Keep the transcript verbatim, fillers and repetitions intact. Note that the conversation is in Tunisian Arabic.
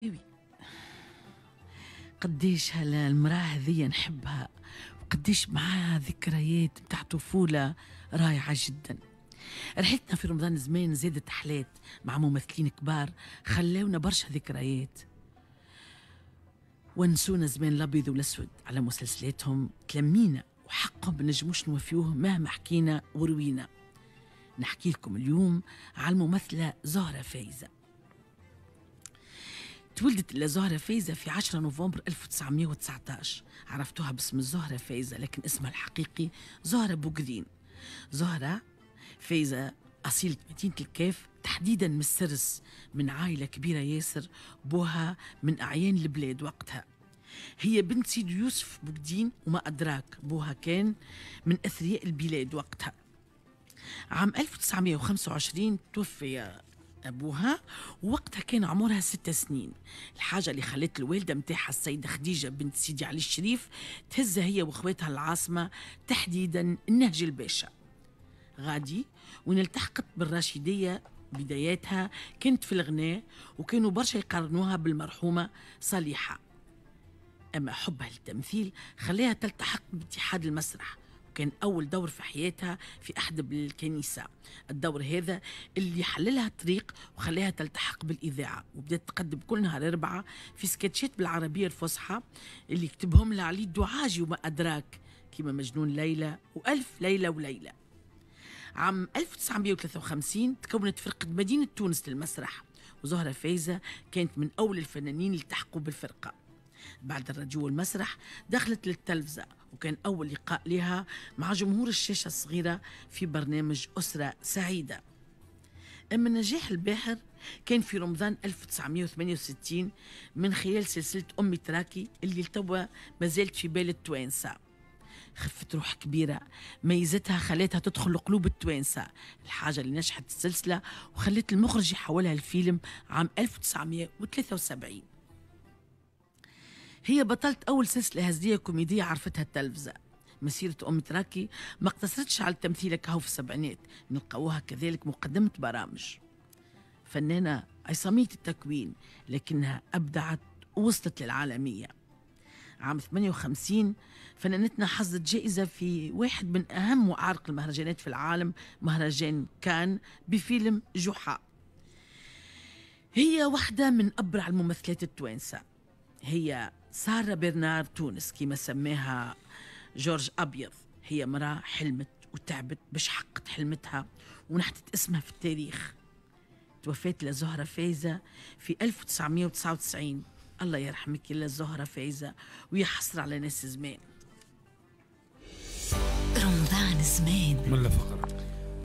oui، قديش هالمرأة هذية نحبها، وقديش معاها ذكريات متاع طفولة رائعة جدا. رحلتنا في رمضان زمان زادت حلات مع ممثلين كبار خلاونا برشا ذكريات، ونسونا زمان الابيض والاسود على مسلسلاتهم، تلمينا وحقهم بنجموش نوفيوه مهما حكينا وروينا. نحكي لكم اليوم على الممثلة زهرة فايزة. تولدت زهرة فايزة في عشرة نوفمبر ألف وتسعمية وتسعتاش. عرفتوها باسم زهرة فايزة، لكن اسمها الحقيقي زهرة بوقرين. زهرة فايزة أصيلة مدينة الكاف، تحديدا من السرس، من عائلة كبيرة ياسر، بوها من أعيان البلاد وقتها. هي بنت سيد يوسف بوقدين وما أدراك، بوها كان من أثرياء البلاد وقتها. عام ألف وتسعمية وخمسة وعشرين توفي أبوها، ووقتها كان عمرها ست سنين. الحاجة اللي خلت الوالدة متاعها السيدة خديجة بنت سيدي علي الشريف تهزها هي وإخواتها العاصمة، تحديدا النهج الباشا غادي، وين التحقت بالراشدية. بداياتها كانت في الغناء، وكانوا برشا يقارنوها بالمرحومة صليحة. أما حبها للتمثيل خلاها تلتحق باتحاد المسرح، وكان أول دور في حياتها في أحد الكنيسة. الدور هذا اللي حللها الطريق وخلاها تلتحق بالإذاعة، وبدأت تقدم كل نهار أربعة في سكتشات بالعربية الفصحى اللي كتبهم لها علي الدعاجي وما أدراك، كما مجنون ليلى وألف ليلة وليلة. عام ألف وتسعمية وثلاثة وخمسين تكونت فرقة مدينة تونس للمسرح، وزهرة فايزة كانت من أول الفنانين اللي التحقوا بالفرقة. بعد الراديو والمسرح دخلت للتلفزة، وكان أول لقاء لها مع جمهور الشاشة الصغيرة في برنامج أسرة سعيدة. أما النجاح الباهر كان في رمضان ألف وتسعمية وثمانية وستين من خلال سلسلة أمي تراكي اللي لتوا ما زالت في بال التوانسة. خفة روح كبيرة ميزتها خلتها تدخل قلوب التوانسة، الحاجة اللي نجحت السلسلة وخلت المخرج يحولها الفيلم عام ألف وتسعمية وثلاثة وسبعين. هي بطلت أول سلسلة هزلية كوميدية عرفتها التلفزة. مسيرة أم تراكي ما اقتصرتش على التمثيل كهو في السبعينات، نلقاوها كذلك مقدمة برامج. فنانة عصامية التكوين، لكنها أبدعت ووصلت للعالمية. عام ثمانية وخمسين فنانتنا حصدت جائزة في واحد من أهم وأعرق المهرجانات في العالم، مهرجان كان، بفيلم جحا. هي واحدة من أبرع الممثلات التوانسة. هي سارة برنار تونس كما سماها جورج أبيض. هي مرأة حلمت وتعبت باش حققت حلمتها ونحتت اسمها في التاريخ. توفات لزهرة فايزة في ألف وتسعمية وتسعة وتسعين. الله يرحمك يا زهرة فايزة، ويا حسرة على ناس زمان. رمضان زمان من فقرة.